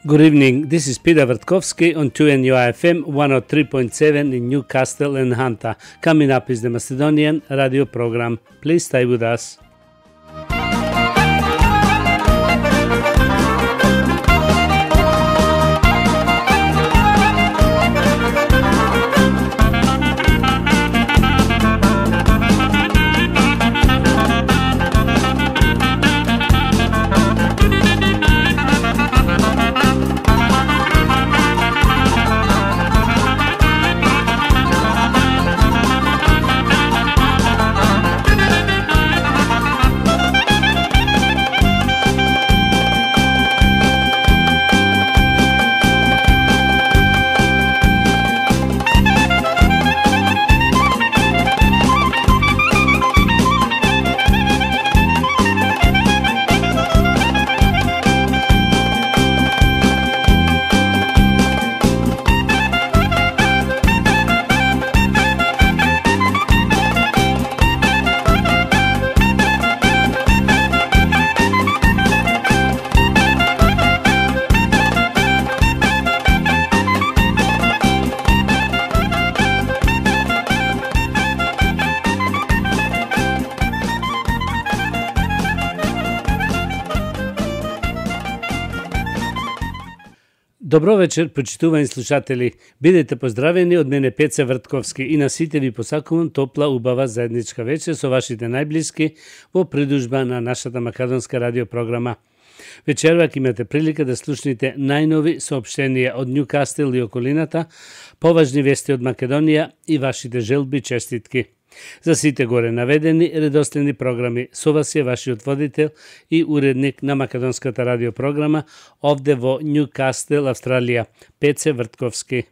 Good evening, this is Peter Vertkovsky on 2NUIFM 103.7 in Newcastle and Hunter. Coming up is the Macedonian radio program. Please stay with us. Добро вечер, почитувани слушатели. Бидете поздравени од мене Пеце Вртковски и на сите ви посакувам топла, убава заедничка вечер со вашите најблиски во придужба на нашата македонска радиопрограма. Вечервак имате прилика да слушнете најнови соопштенија од Ньюкастел и околината, поважни вести од Македонија и вашите желби честитки. За сите горе наведени редоследни програми, со вас е вашиот водител и уредник на македонската радиопрограма овде во Ньюкастел, Австралија, Пеце Вртковски.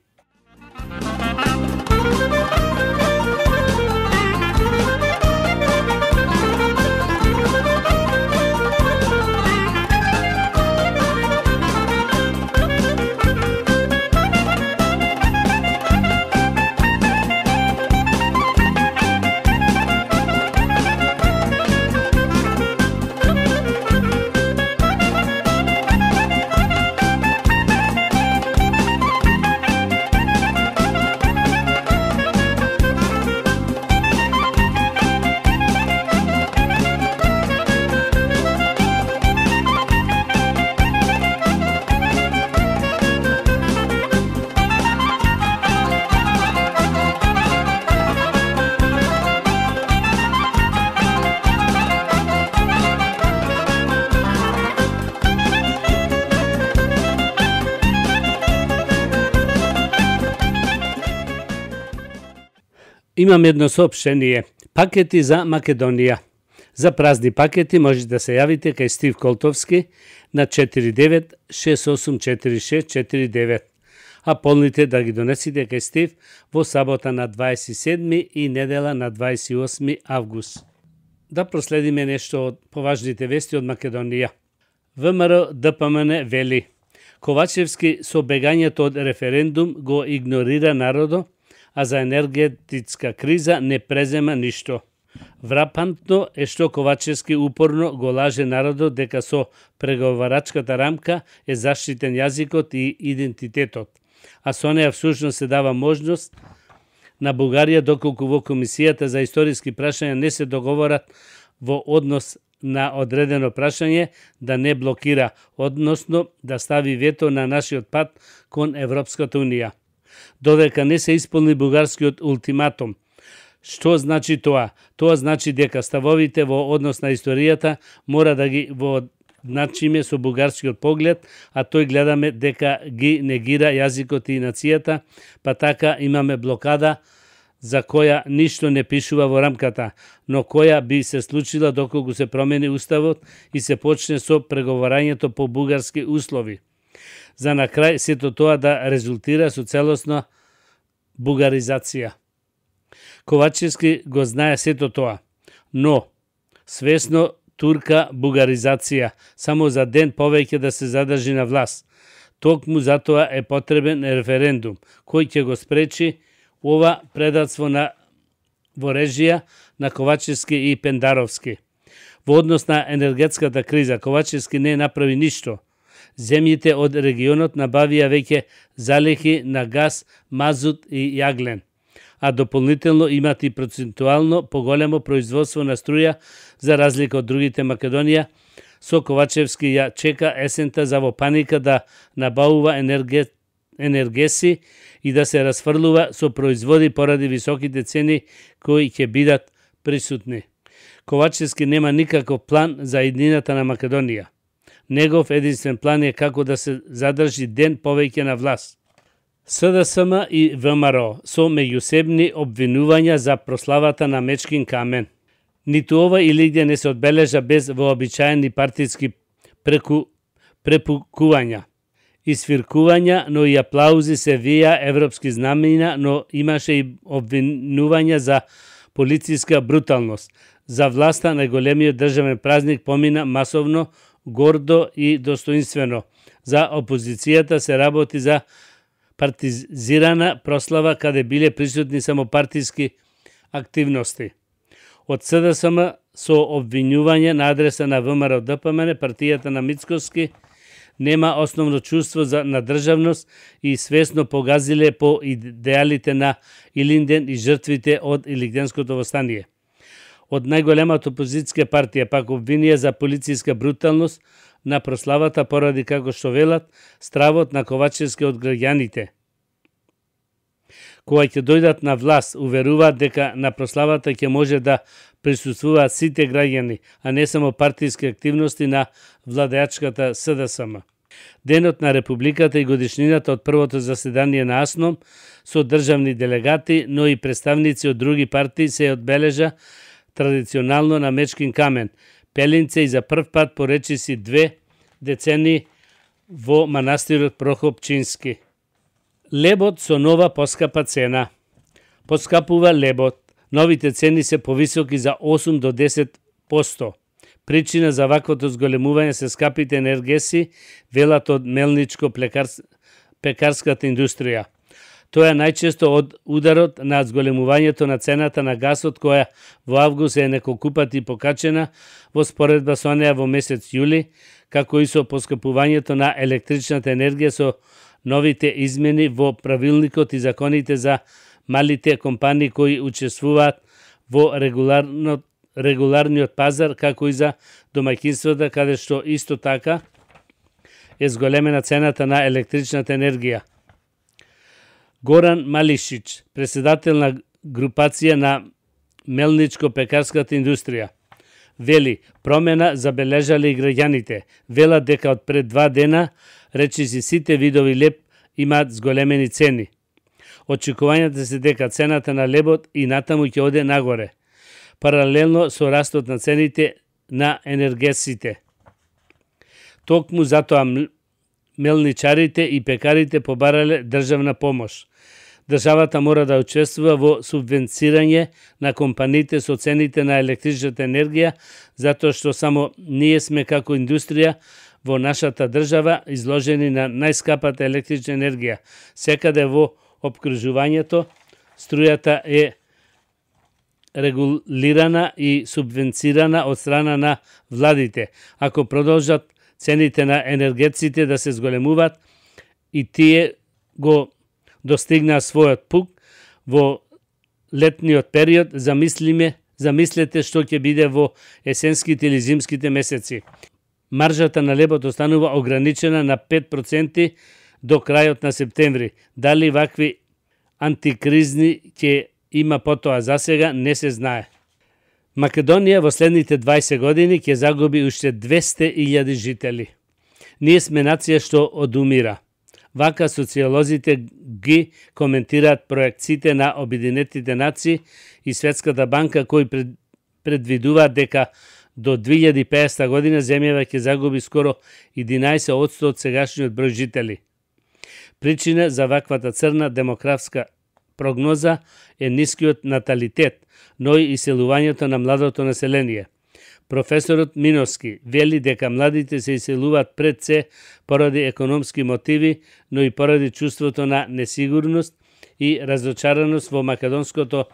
Имам едно соопштение. Пакети за Македонија. За празни пакети можете да се јавите кај Стив Колтовски на 49684649, а полните да ги донесите кај Стив во сабота на 27 и недела на 28 август. Да проследиме нешто од поважните вести од Македонија. ВМРО ДПМН вели: Ковачевски со бегањето од референдум го игнорира народот, а за енергетичка криза не презема ништо. Врапантно е што Ковачевски упорно го лаже народот дека со преговарачката рамка е заштитен јазикот и идентитетот, а со неја всушност се дава можност на Бугарија, доколку во Комисијата за историски прашања не се договорат во однос на одредено прашање, да не блокира, односно да стави вето на нашиот пат кон Европската Унија. Додека не се исполни бугарскиот ултиматум. Што значи тоа? Тоа значи дека ставовите во однос на историјата мора да ги воодначиме со бугарскиот поглед, а тој гледаме дека ги негира јазикот и нацијата, па така имаме блокада за која ништо не пишува во рамката, но која би се случила доколку се промени уставот и се почне со преговарањето по бугарски услови. За на крај сето тоа да резултира со целосна бугаризација. Ковачевски го знае сето тоа, но свесно турка бугаризација, само за ден повеќе да се задржи на власт. Токму затоа е потребен референдум, кој ќе го спречи ова предатство во режија на Ковачевски и Пендаровски. Во однос на енергетската криза, Ковачевски не направи ништо. земјите од регионот набавија веќе залихи на газ, мазут и јаглен, а дополнително имат и процентуално поголемо производство на струја за разлика од другите. Македонија со Ковачевски ја чека есента за во паника да набавува енергеси и да се расфрлува со производи поради високите цени кои ќе бидат присутни. Ковачевски нема никаков план за иднината на Македонија. Негов единствен план е како да се задржи ден повеќе на власт. СДСМ и ВМРО со меѓусебни обвинувања за прославата на Мечкин камен. Ниту ова и лигде не се одбележа без вообичаени партиски препукувања и свиркувања, но и аплаузи се вија европски знамена, но имаше и обвинувања за полициска бруталност. За власта најголемиот државен празник помина масовно, гордо и достоинствено. За опозицијата се работи за партизирана прослава каде биле присутни само партиски активности. Од СДСМ со обвинување на адреса на ВМРО ДПМН, партијата на Мицкоски нема основно чувство на државност и свесно погазиле по идеалите на Илинден и жртвите од Илинденското востание. Од најголемата опозицијска партија пак обвинија за полициска бруталност на прославата поради, како што велат, стравот на Ковачевски од граѓаните. Кога ќе дојдат на власт, уверуваат дека на прославата ќе може да присуствуваат сите граѓани, а не само партиски активности на владеачката СДСМ. Денот на Републиката и годишнината од првото заседание на АСНОМ со државни делегати, но и представници од други партии се одбележа традиционално на Мечкин камен, Пелинце и за прв пат по речиси 2 децени во манастирот Прохоп Чински. Лебот со нова поскапа цена. Поскапува лебот. Новите цени се повисоки за 8 до 10%. Причина за ваквото зголемување се скапите енергеси, велат од мелничко-пекарската индустрија. Тоа е најчесто од ударот на зголемувањето на цената на гасот, која во август е неколку пати покачена во споредба со неа во месец јули, како и со поскапувањето на електричната енергија со новите измени во правилникот и законите за малите компании кои учествуваат во регуларниот пазар, како и за домаќинствата, каде што исто така е зголемена цената на електричната енергија. Горан Малишич, председател на групација на мелничко-пекарската индустрија, вели, промена забележале и граѓаните. Велат дека од пред 2 дена речиси сите видови леб имаат зголемени цени. Очекувањата се дека цената на лебот и натаму ќе оде нагоре, паралелно со растот на цените на енергесите. Токму затоа мелничарите и пекарите побарале државна помош. Државата мора да учествува во субвенцирање на компаниите со цените на електричната енергија, затоа што само ние сме како индустрија во нашата држава изложени на најскапата електрична енергија. Секаде во опкружувањето струјата е регулирана и субвенцирана од страна на владите. Ако продолжат цените на енергетиците да се зголемуваат и тие го достигнаа својот пук во летниот период, замислете што ќе биде во есенските или зимските месеци. Маржата на лебот останува ограничена на 5% до крајот на септември. Дали вакви антикризни ќе има потоа, за сега не се знае. Македонија во следните 20 години ќе загуби уште 200.000 жители. Ние сме нација што одумира. Вака социолозите ги коментираат проекциите на Обединетите нации и Светската банка кои предвидуваат дека до 2050 година земјава ќе загуби скоро 11% од сегашниот број жители. Причина за ваквата црна демографска прогноза е нискиот наталитет, но и иселувањето на младото население. Професорот Миновски вели дека младите се иселуваат пред се поради економски мотиви, но и поради чувството на несигурност и разочараност во македонското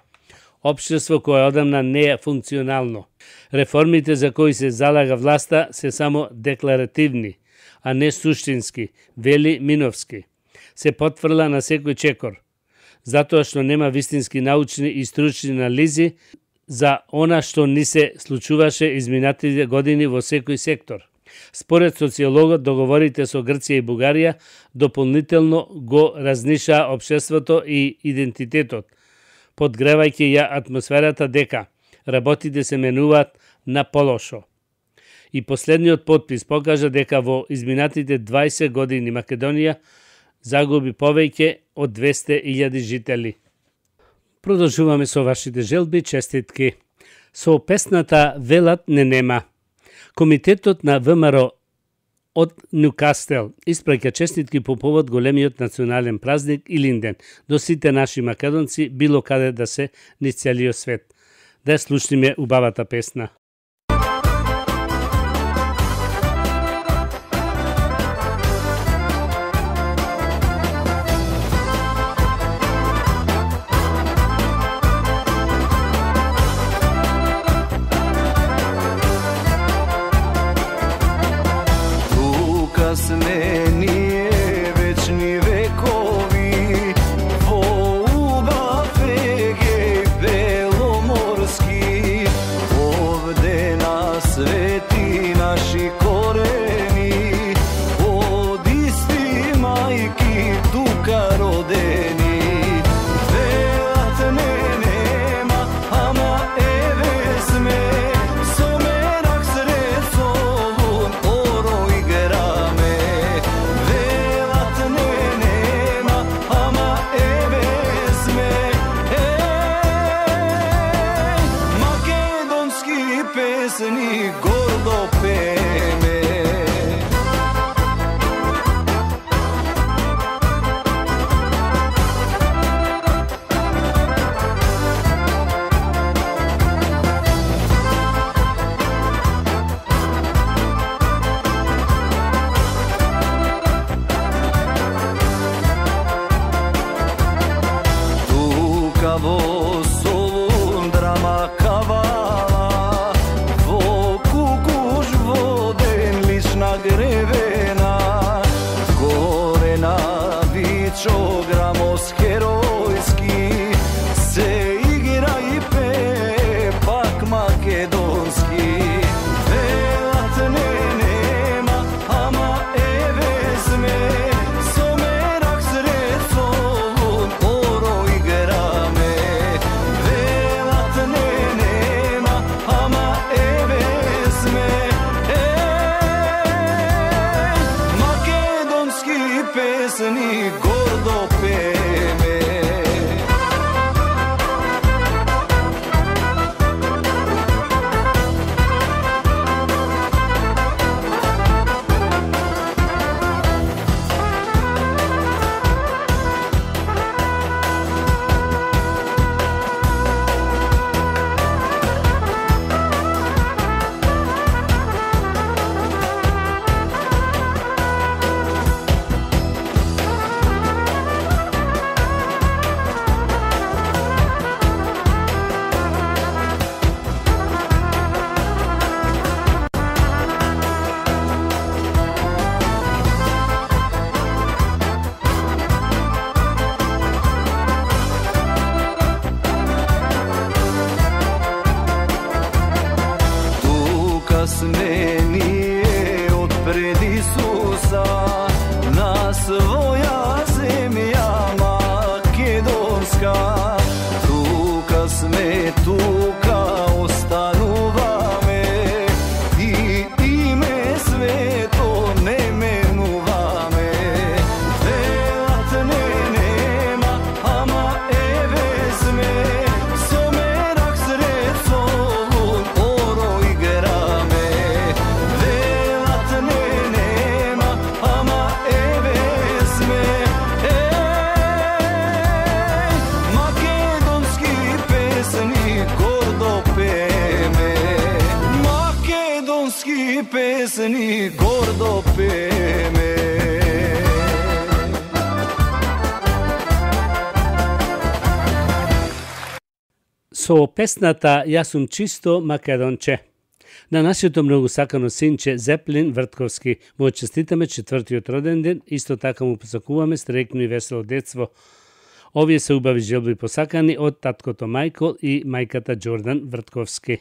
општество кое одамна не е функционално. Реформите за кои се залага власта се само декларативни, а не суштински, вели Миновски. Се потврла на секој чекор, затоа што нема вистински научни и стручни анализи за она што ни се случуваше изминатите години во секој сектор. Според социологот, договорите со Грција и Бугарија дополнително го разнишаа општеството и идентитетот, подгревајќи ја атмосферата дека работите се менуваат на полошо. И последниот подпис покажа дека во изминатите 20 години Македонија загуби повеќе од 200.000 жители. Продолжуваме со вашите желби, честитки. Со песната Велат не нема. Комитетот на ВМРО од Ньукастел испраќа честитки по повод големиот национален празник Илинден до сите наши македонци било каде да се низ целиот свет. Да ја слушниме убавата песна. pesni gordo peme. Со песната «Јас сум чисто македонче». На нашето многу сакано синче Зеплин Вртковски му честитаме 4-тиот роден ден, исто така му посакуваме среќно и весело детство. Овие се убави желби посакани од таткото Мајкол и мајката Џордан Вртковски.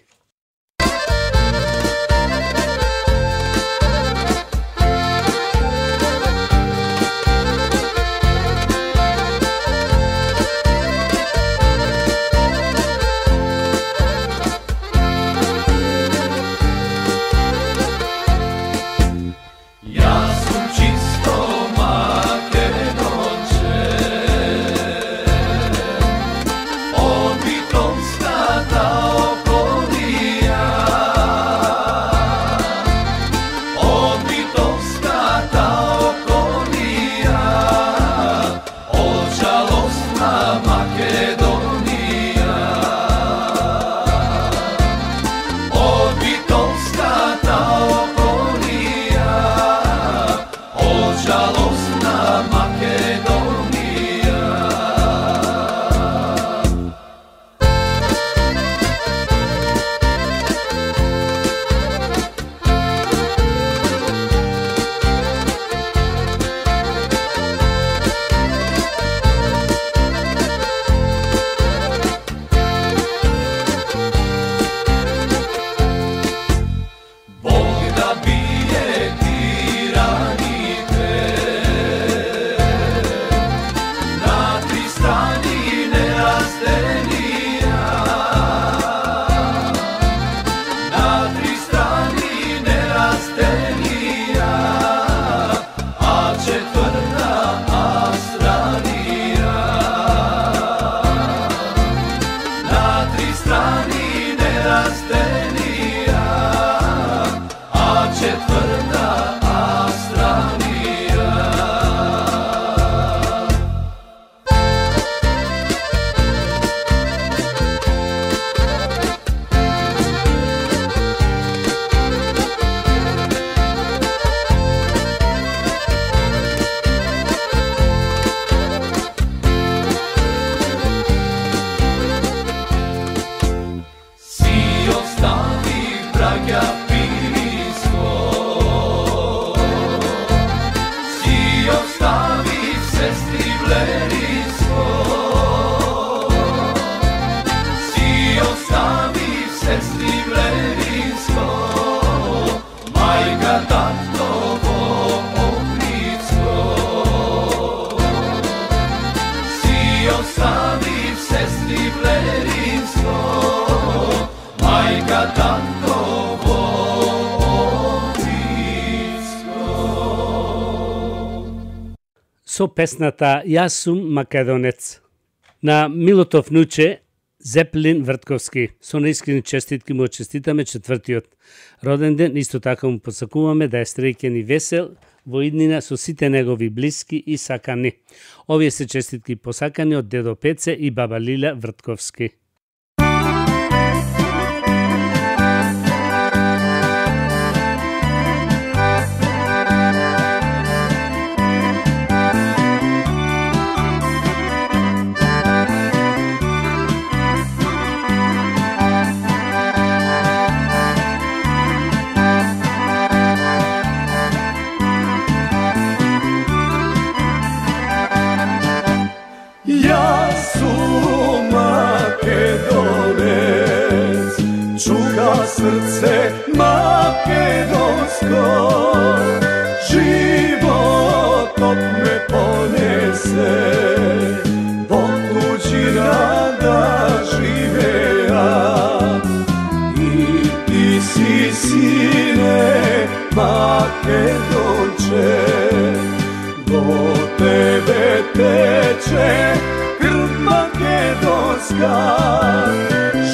Со песната Јас сум македонец на милото внуче Зеплин Вртковски. Со наискрени честитки му честитаме 4-тиот роден ден, исто така му посакуваме да е среќен и весел во иднина со сите негови блиски и сакани. Овие се честитки посакани од дедо Пеце и баба Лиля Вртковски. Srce makedonsko, životot me ponese, po tuđina da živeja. I ti si sine Makedonče, do tebe teče krv makedonska.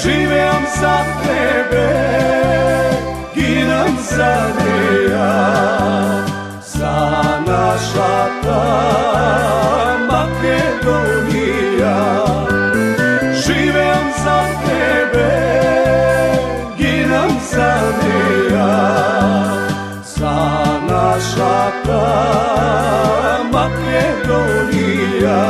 Živim za tebe, ginam za neja, za naša ta Makedonija. Živim za tebe, ginam za neja, za naša ta Makedonija.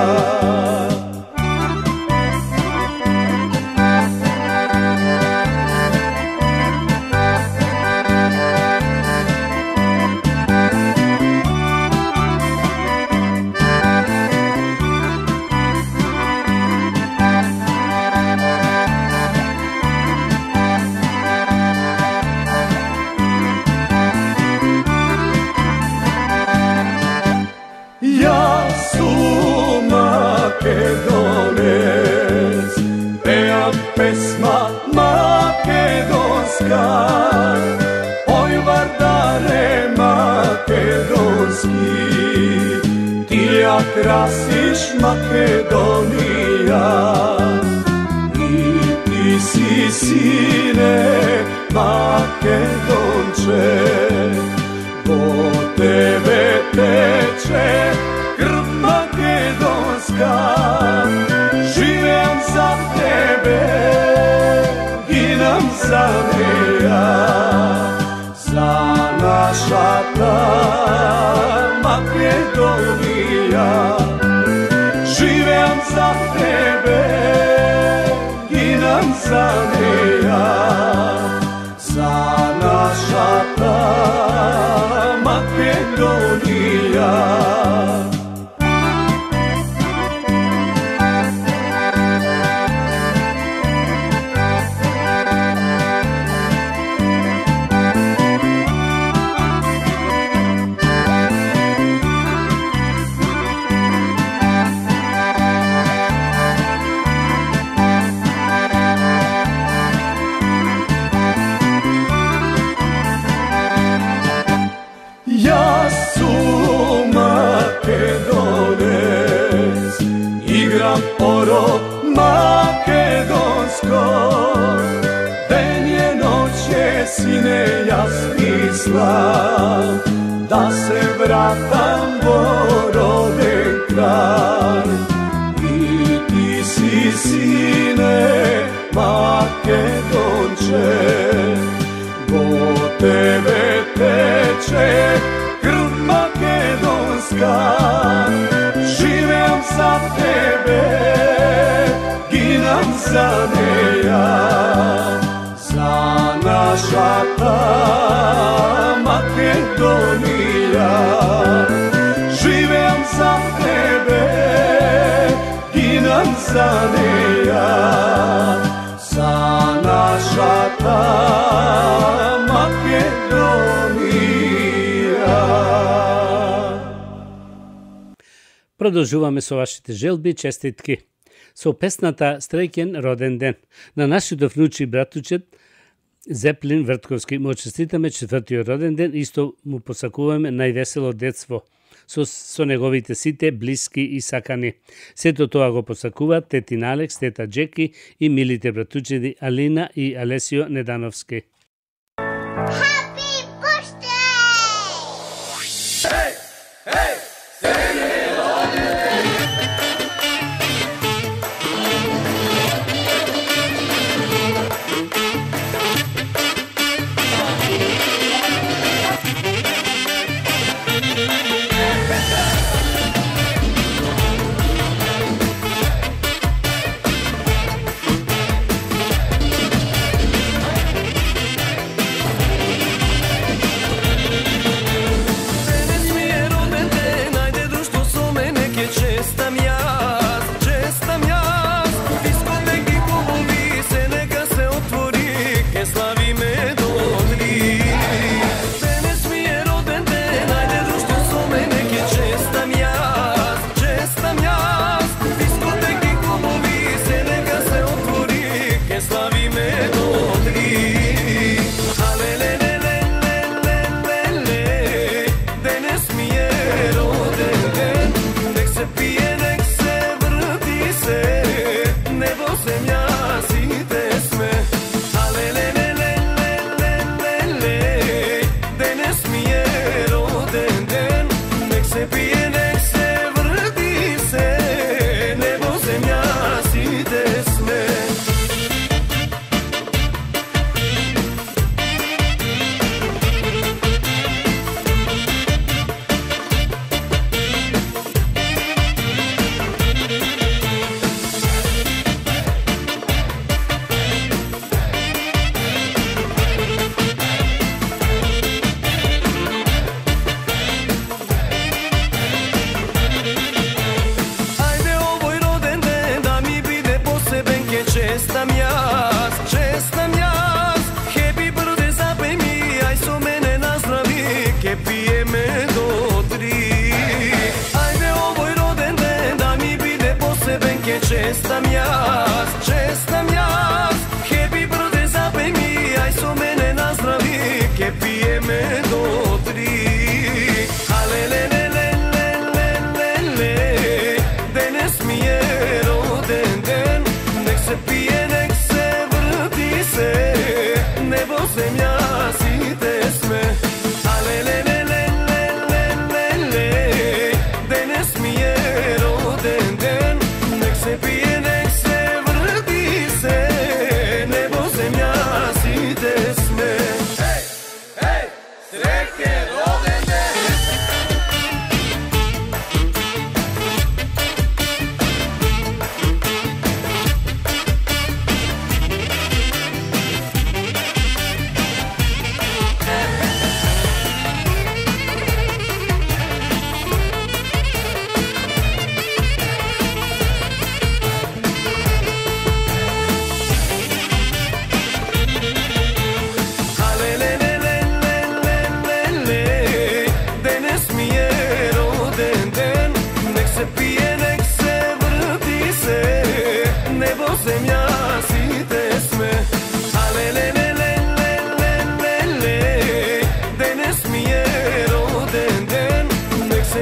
Македонски, ти ја красиш Македонија. И ти си, сине Македонче, по тебе тече крв македонска. Живеам за тебе, гинам за неја, за нашата Македонија. Живеам за тебе, гинам за неја, за нашата Македонија. Јас сум македонец, играм оро македонско. Ден е ноќ е, сине, јас мислам да се вратам во роден крај. И ти си, сине Македонче, во тебе тече крв македонска. Живеам за тебе, гинам за неја, за нашата Македонија. Живеам за тебе, гинам за неја, за нашата Македонија. Продолжуваме со вашите желби и честитки. Со песната Среќен роден ден на нашите внучи братучет Зеплин Вртковски. Му честитаме 4-тиот роден ден, исто му посакуваме највесело детство со неговите сите блиски и сакани. Сето тоа го посакуваат тетин Алекс, тета Джеки и милите братучеди Алина и Алесио Недановски. Happy birthday! Hey, hey, Čestam jaz, happy birthday zapej mi, aj so mene nazdravi, ke pijeme do 3. Alelele.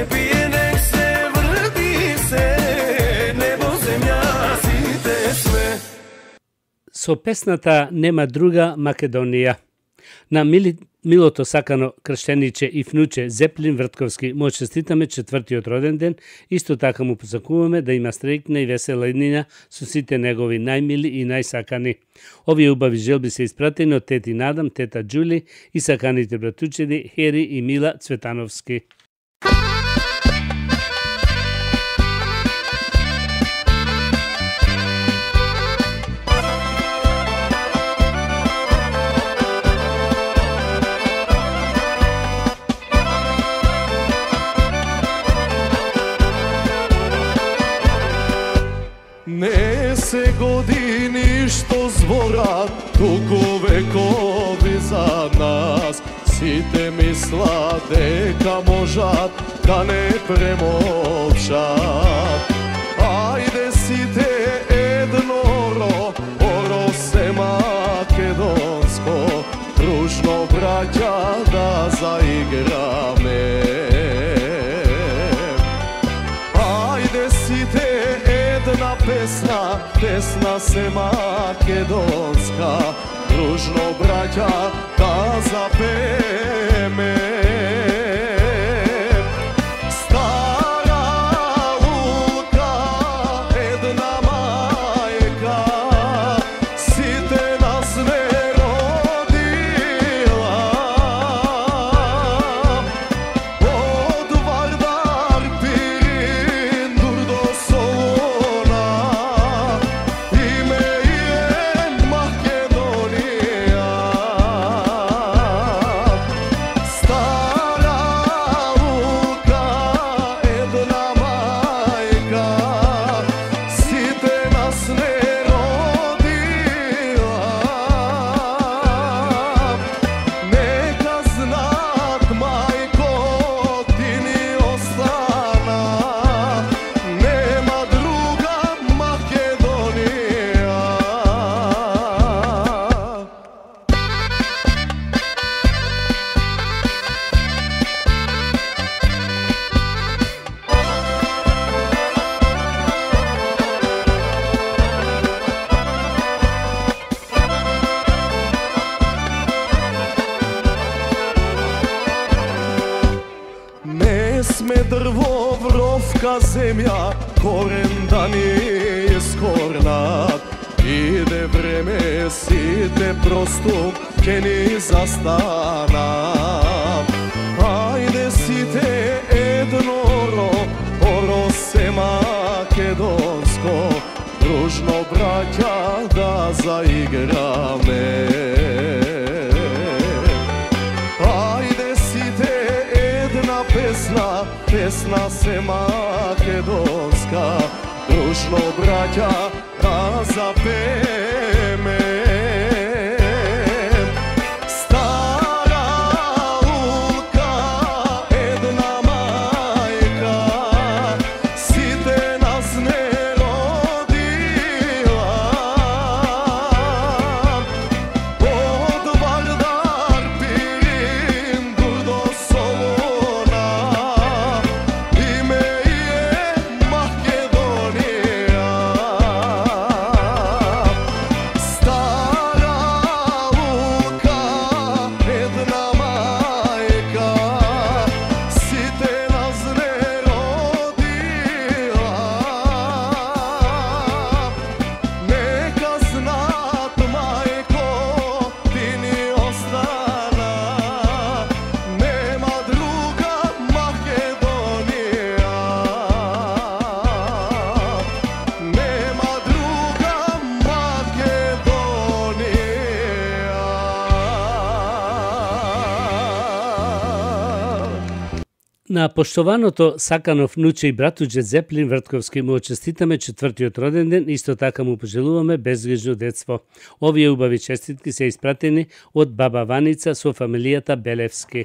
се пие, нек се врти се, небо, земја, сите сме. Со песната Нема друга Македонија. На милото сакано крштениче и внуче Зеплин Вртковски му честитаме 4-тиот роден ден, исто така му посакуваме да има среќна и весела иднина со сите негови најмили и најсакани. Овие убави желби се испратени од тети Надам, тета Џули и саканите братучеди Хери и Мила Цветановски. Не се години што зборат, туку векови за нас. Сите мисла дека можат да не премолчат. Ајде сите едно оро се македонско, дружно браќа да заиграме. Ајде сите една песна се македонска, дружно браќа да запееме. Стара улка, една мајка, сите нас не родила. Од Вардар, Пирин, дур до Солуна, име е Македонија. Стара улка, една мајка, сите нас не родила. Нека знат, мајко, ти ни остана, нема друга Македонија. Не сме дрво, вровка, земја, корен да ни искорнат. Иде време, сите просту ке ни застанат. Ајде сите едно оро се македонско, дружно браќа да заиграме. Ајде сите една песна се македонска, дружно браќа да запееме. Стара улка, една мајка, сите нас не родила. Од Вардар, Пирин, дур до Солуна, име е Македонија. Стара улка, една мајка, сите нас не родила. Нека знат, мајко, ти ни остана, нема друга Македонија. Нема друга Македонија. На поштованото сакано внуче и братуџе Зеплин Вртковски му честитаме 4-тиот роден ден, исто така му пожелуваме безгрижно детство. Овие убави честитки се испратени од баба Ваница со фамилијата Белевски.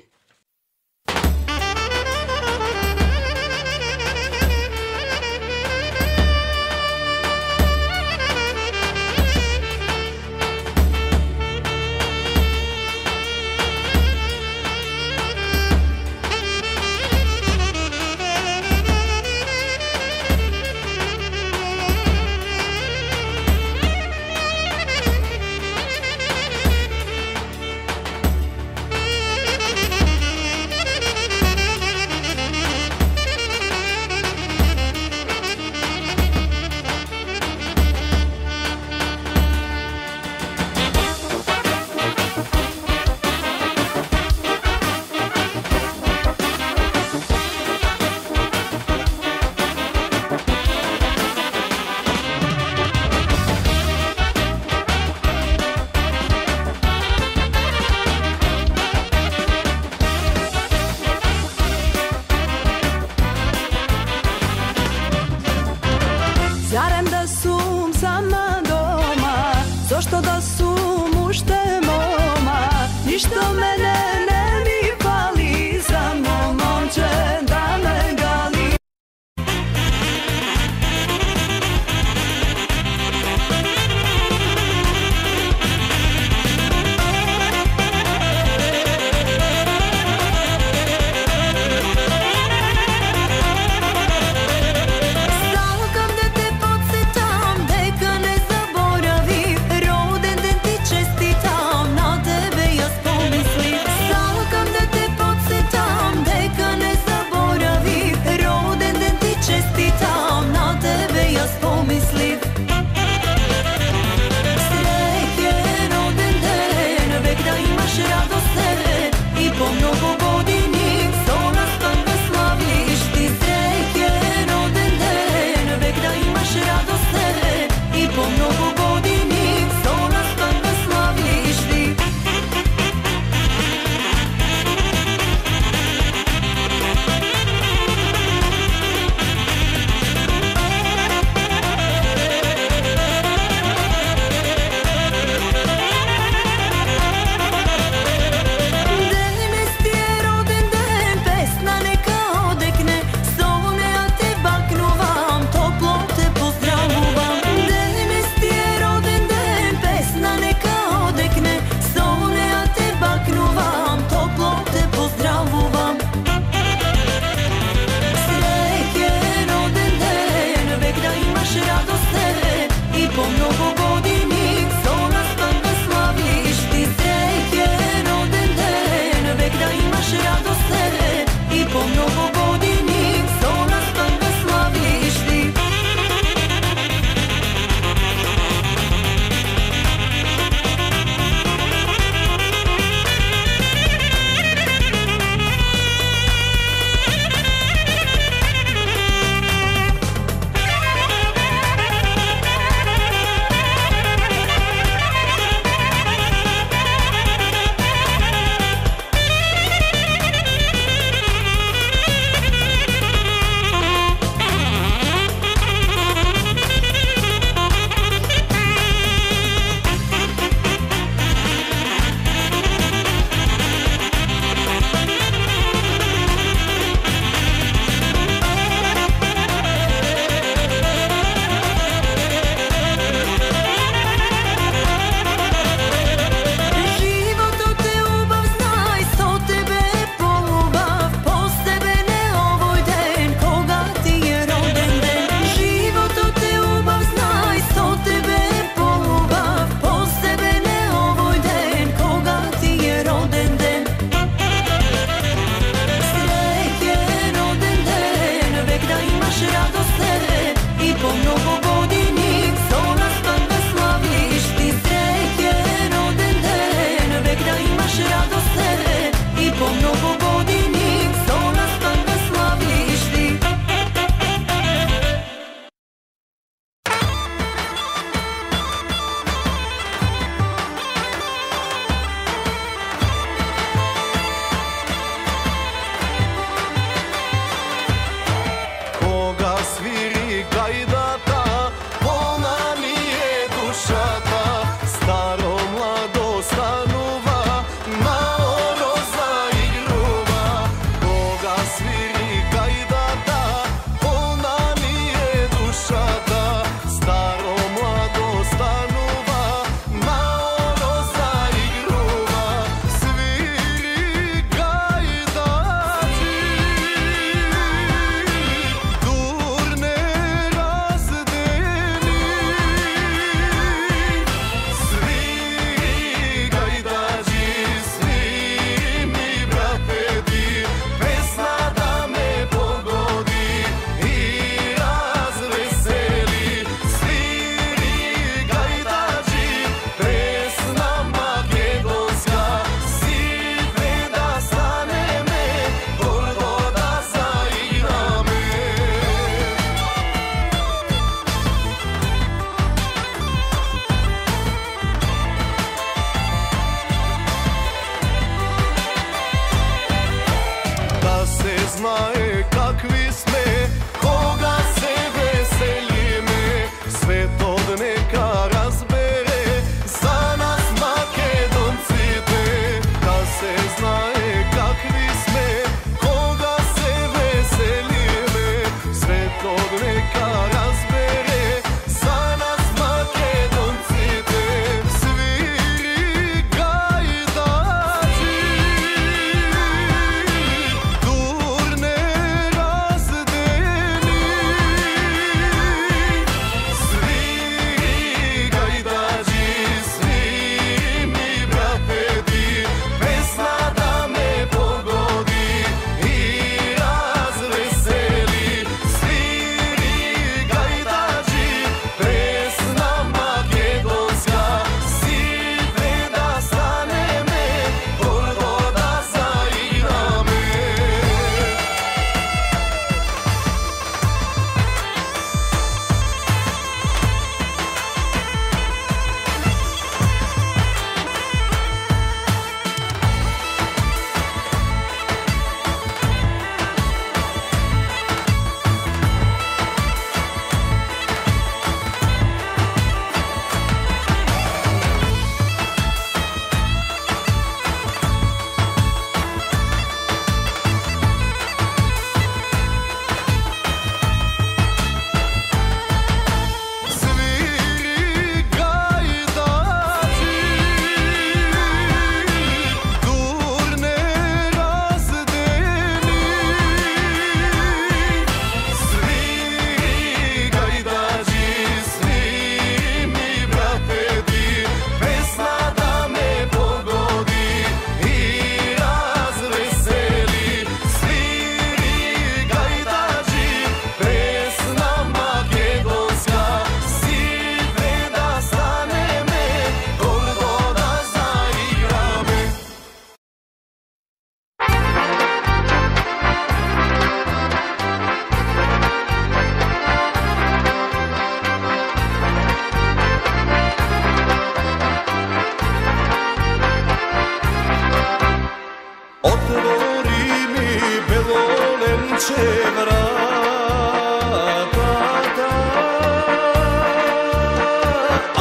вратата,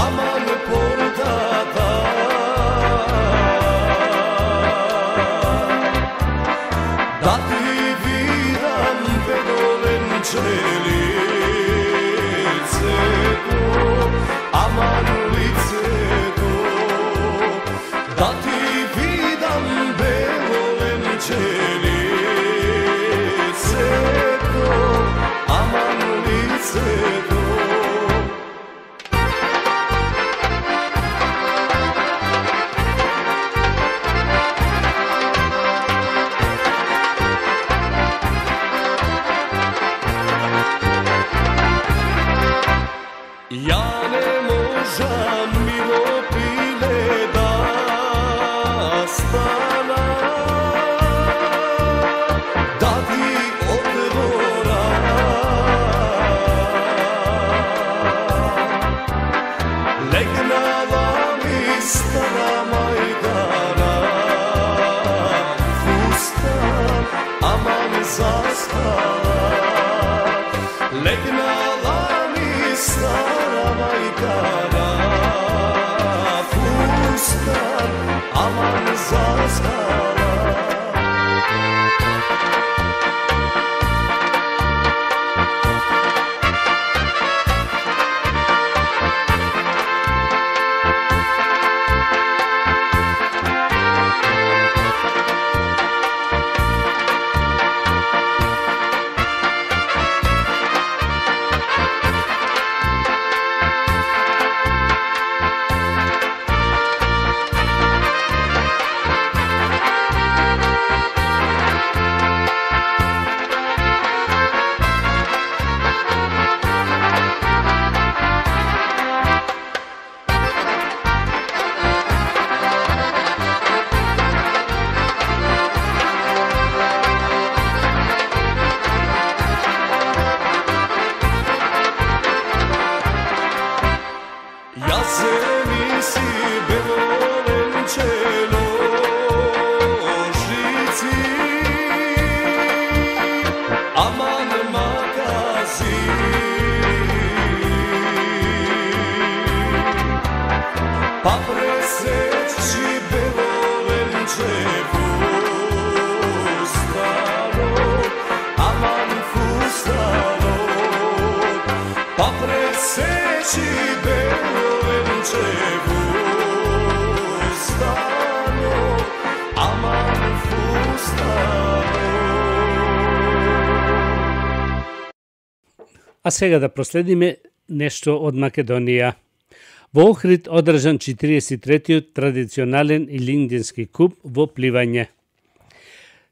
аман портата, да ти видам бедовенче лицето, аман лицето, да ти видам бедовенче лицето, аман лицето. Ја не можам мило пиле да стана, да ти одгора. Легнала ми стара мајкара, фустан, аман заспала. Легнала ми стара мајкара, фустан, аман заспала. Јас се мисли бедовенче ложици, аман магази, па пресечи бедовенче фустано, аман фустано, па пресечи бедовенче фустано, аман фустано. А сега да проследиме нешто од Македонија. Во Охрид одржан 43-тиот традиционален Илинденски куп во пливање.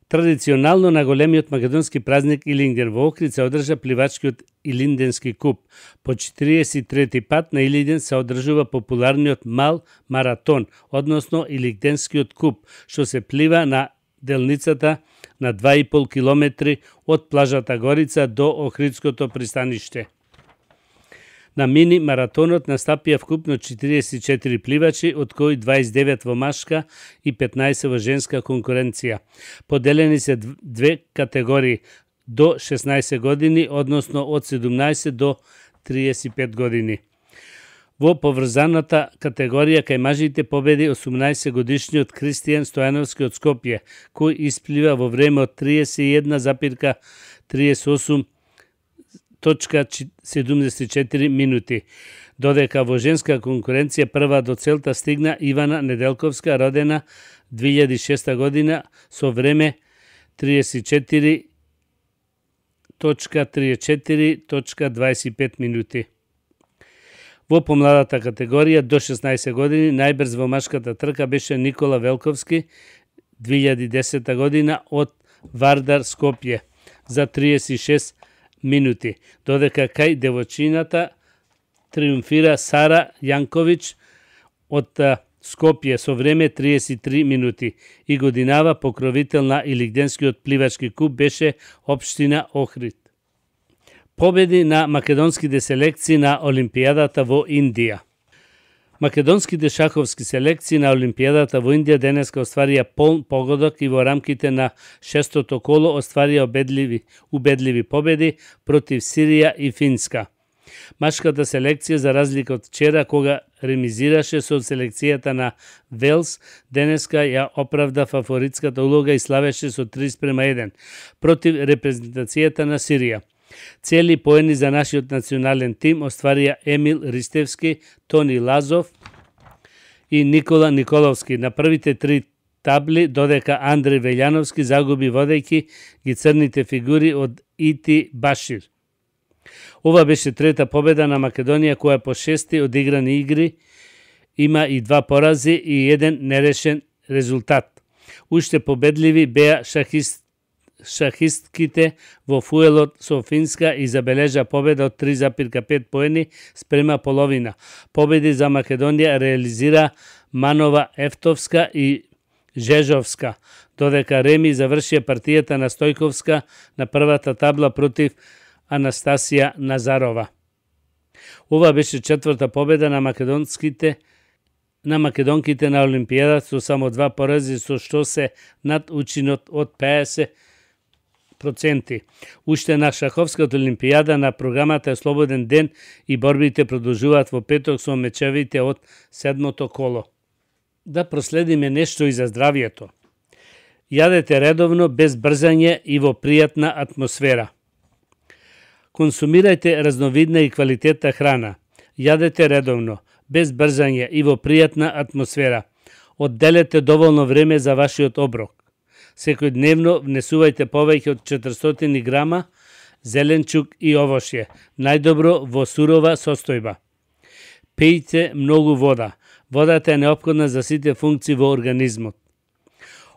Традиционално на големиот македонски празник Илинден во Охрид се одржа пливачкиот Илинденски куп. По 43-ти пат на Илинден се одржува популарниот мал маратон, односно Илинденскиот куп, што се плива на делницата на 2,5 километри од плажата Горица до Охридското пристаниште. На мини маратонот настапија вкупно 44 пливачи, од кои 29 во машка и 15 во женска конкуренција. Поделени се две категории до 16 години, односно од 17 до 35 години. Во поврзаната категорија кај мажите победи 18 годишниот Кристијан Стојановски од Скопје, кој исплива во време од 31,38.74 минути, додека во женска конкуренција прва до целта стигна Ивана Неделковска, родена 2006 година, со време 34.25 минути. Во помладата категорија до 16 години најбрз во машката трка беше Никола Велковски 2010 година од Вардар Скопје за 36 минути, додека кај девојчината триумфира Сара Јанковиќ од Скопје со време 33 минути и годинава покровител на Илинденскиот пливачки куп беше општина Охрид. Победи на македонските селекции на Олимпијадата во Индија. Македонските шаховски селекции на Олимпијадата во Индија денеска остварија полн погодок и во рамките на 6-тото коло остварија убедливи победи против Сирија и Финска. Машката селекција, за разлика од вчера кога ремизираше со селекцијата на Велс, денеска ја оправда фаворитската улога и славеше со 30:1 против репрезентацијата на Сирија. Цели поени за нашиот национален тим остварија Емил Ристевски, Тони Лазов и Никола Николовски на првите 3 табли, додека Андреј Велјановски загуби водејќи ги црните фигури од Ити Башир. Ова беше трета победа на Македонија која по 6 одиграни игри има и 2 порази и 1 нерешен резултат. Уште победливи беа шахистките во фуелот со Финска и забележа победа од 3,5 поени спрема половина. Победи за Македонија реализира Манова Ефтовска и Жежовска, додека Реми завршија партијата на Стојковска на првата табла против Анастасија Назарова. Ова беше четврта победа на македонките на Олимпијадата со само 2 порази, со што се над учинот од 50%. Уште на шаховската Олимпијада на програмата е слободен ден и борбите продолжуваат во петок со мечевите од 7-то коло. Да проследиме нешто и за здравието. Јадете редовно, без брзање и во пријатна атмосфера. Консумирајте разновидна и квалитетна храна. Јадете редовно, без брзање и во пријатна атмосфера. Одделете доволно време за вашиот оброк. Секојдневно внесувајте повеќе од 400 грама зеленчук и овошје, најдобро во сурова состојба. Пијте многу вода. Водата е неопходна за сите функции во организмот.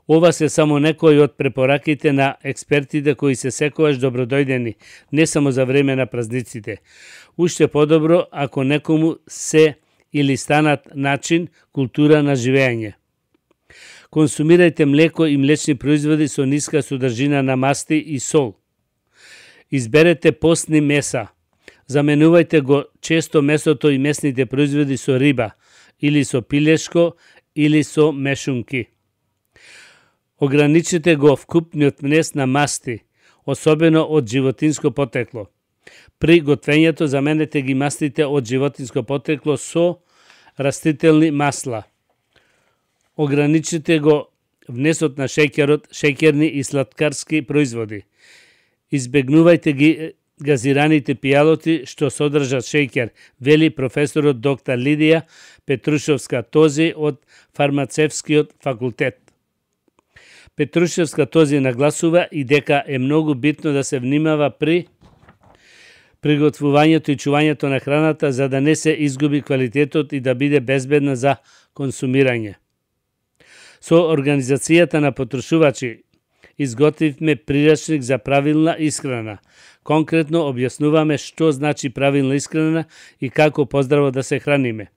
Ова се само некои од препораките на експертите кои се секогаш добродојдени, не само за време на празниците. Уште подобро ако некому се или станат начин, култура на живење. Консумирајте млеко и млечни производи со ниска содржина на масти и сол. Изберете постни меса. Заменувајте го често месото и месните производи со риба, или со пилешко, или со мешунки. Ограничите го вкупниот внес на масти, особено од животинско потекло. При готвењето заменете ги мастите од животинско потекло со растителни масла. Ограничите го внесот на шеќерот, шеќерни и сладкарски производи. Избегнувајте ги газираните пијалоти што содржат шеќер, вели професорот доктор Лидија Петрушевска-Този од фармацевскиот факултет. Петрушевска-Този нагласува и дека е многу битно да се внимава при приготвувањето и чувањето на храната за да не се изгуби квалитетот и да биде безбедна за консумирање. Со Организацијата на потрошувачи изготвивме прирачник за правилна исхрана. Конкретно објаснуваме што значи правилна исхрана и како поздраво да се храниме.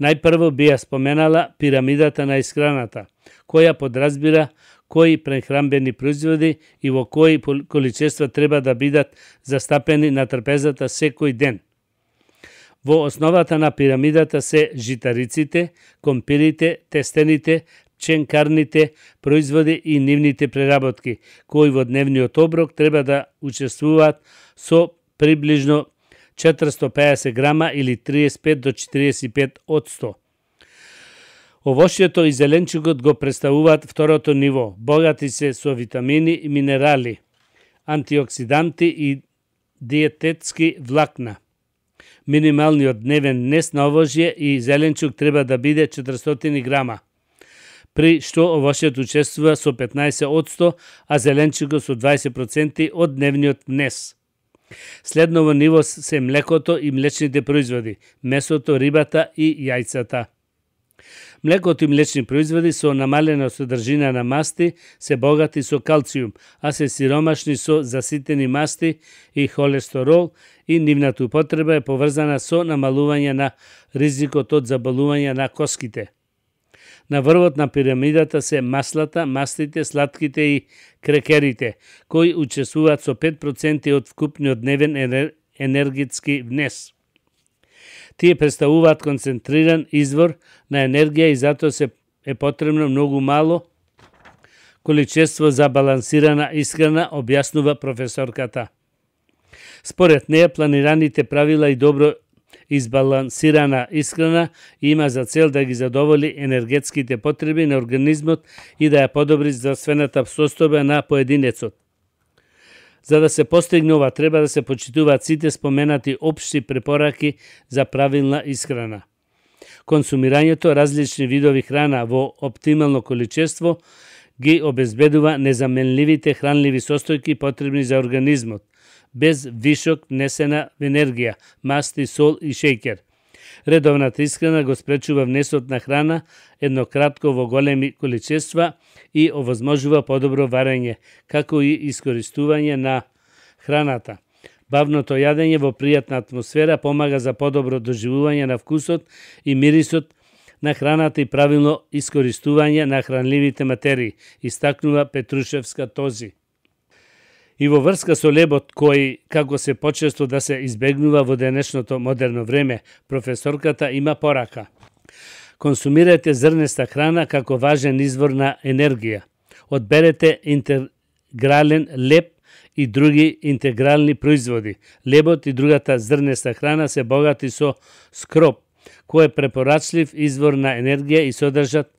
Најпрво би ја споменала пирамидата на исхраната, која подразбира кои прехранбени производи и во кои количества треба да бидат застапени на трпезата секој ден. Во основата на пирамидата се житариците, компирите, тестените, пченкарните производи и нивните преработки, кои во дневниот оброк треба да учествуваат со приближно 450 грама или 35 до 45%. Овошјето и зеленчукот го представуваат второто ниво, богати се со витамини и минерали, антиоксиданти и диететски влакна. Минималниот дневен внес на овошје и зеленчук треба да биде 400 грама, при што овошјето учествува со 15%, а зеленчукот со 20% од дневниот внес. Следново ниво се млекото и млечните производи, месото, рибата и јајцата. Млекото и млечни производи со намалена содржина на масти се богати со калциум, а се сиромашни со заситени масти и холестерол и нивната употреба е поврзана со намалување на ризикот од заболување на коските. На врвот на пирамидата се маслата, мастите, сладките и крекерите, кои учествуваат со 5% од вкупниот дневен енергетски внес. Тие представуваат концентриран извор на енергија и затоа се е потребно многу мало количество за балансирана исхрана, објаснува професорката. Според неја, планираните правила и добро избалансирана исхрана има за цел да ги задоволи енергетските потреби на организмот и да ја подобри здравствената состојба на поединецот. За да се постигне ова, треба да се почитуваат сите споменати општи препораки за правилна исхрана. Консумирањето различни видови храна во оптимално количество ги обезбедува незаменливите хранливи состојки потребни за организмот, без вишок внесена енергија, масти, сол и шеќер. Редовната исхрана го спречува внесот на храна еднократко во големи количества и овозможува подобро варење, како и искористување на храната. Бавното јадење во пријатна атмосфера помага за подобро доживување на вкусот и мирисот на храната и правилно искористување на хранливите материи, истакнува Петрушевска Този. И во врска со лебот, кој како се почесто да се избегнува во денешното модерно време, професорката има порака. Консумирајте зрнеста храна како важен извор на енергија. Одберете интегрален леб и други интегрални производи. Лебот и другата зрнеста храна се богати со скроп, кој е препорачлив извор на енергија и содржат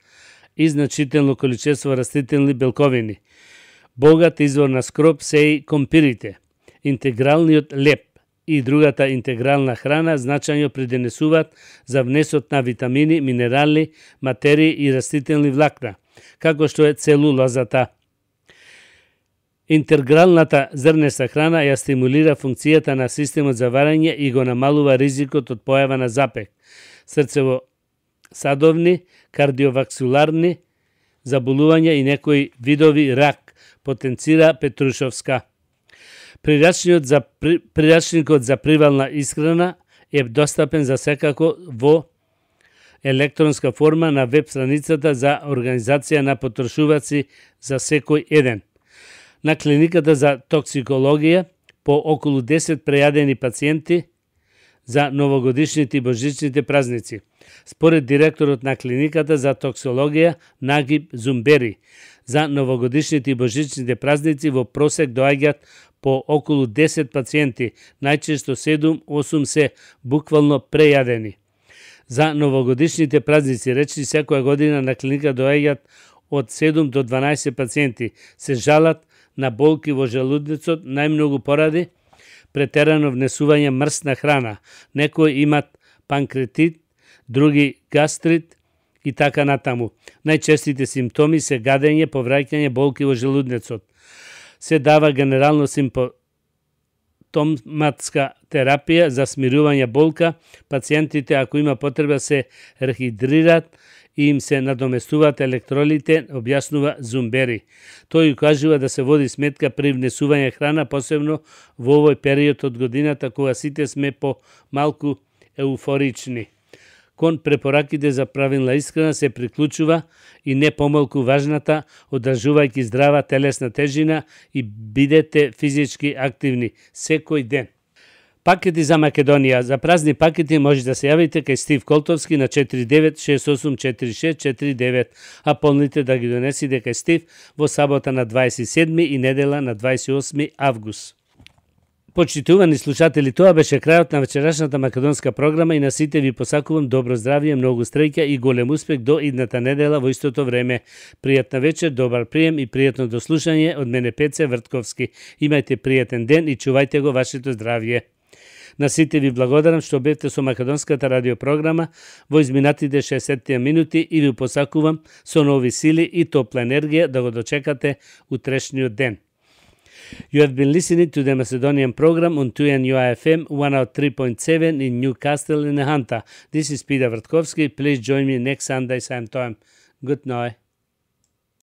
и значително количество растителни белковини. Богат извор на скроп се и компирите. Интегралниот леб и другата интегрална храна значајно придонесуваат за внесот на витамини, минерали, материи и растителни влакна, како што е целулозата. Интегралната зрнеста храна ја стимулира функцијата на системот за варење и го намалува ризикот од појава на запек, срцево-садовни, кардиоваскуларни заболувања и некои видови рак, потенцира Петрушевска. Прирачникот за привална исхрана е достапен за секако во електронска форма на веб страницата за Организација на потрошуваци за секој еден. На клиниката за токсикологија по околу 10 прејадени пациенти за новогодишните и божичните празници. Според директорот на клиниката за токсикологија Нагиб Зумбери, за новогодишните и божичните празници во просек доаѓаат по околу 10 пациенти, најчесто 7-8 се буквално прејадени. За новогодишните празници речи секоја година на клиника доаѓаат од 7 до 12 пациенти, се жалат на болки во желудницот, најмногу поради претерано внесување мрсна храна. Некои имат панкретит, други гастрит и така натаму. Најчестите симптоми се гадење, повраќање, болки во желудницот. Се дава генерално симптоматска терапија за смирување болка. Пациентите, ако има потреба, се рехидрираат и им се надоместуваат електролите, објаснува Зумбери. Тој кажува да се води сметка при внесување храна, посебно во овој период од годината кога сите сме по малку еуфорични. Кон препораките за правилна исхрана се приклучува и не помалку важната, одржувајќи здрава телесна тежина и бидете физички активни секој ден. Пакети за Македонија. За празни пакети може да се јавите кај Стив Колтовски на 49684649, а полните да ги донесите кај Стив во сабота на 27 и недела на 28 август. Почитувани слушатели, тоа беше крајот на вечерашната македонска програма и на сите ви посакувам добро здравје, многу среќа и голем успех до идната недела во истото време. Пријатна вечер, добар прием и пријатно дослушање од мене Пеце Вртковски. Имајте пријатен ден и чувајте го вашето здравје. На сите ви благодарам што бевте со македонската радиопрограма во изминатите 60 минути и ви посакувам со нови сили и топла енергија да го дочекате утрешниот ден. You have been listening to the Macedonian program on 2NUI FM 103.7 in Newcastle in Nahanta. This is Peter Vrtkovski. Please join me next Sunday same time. Good night.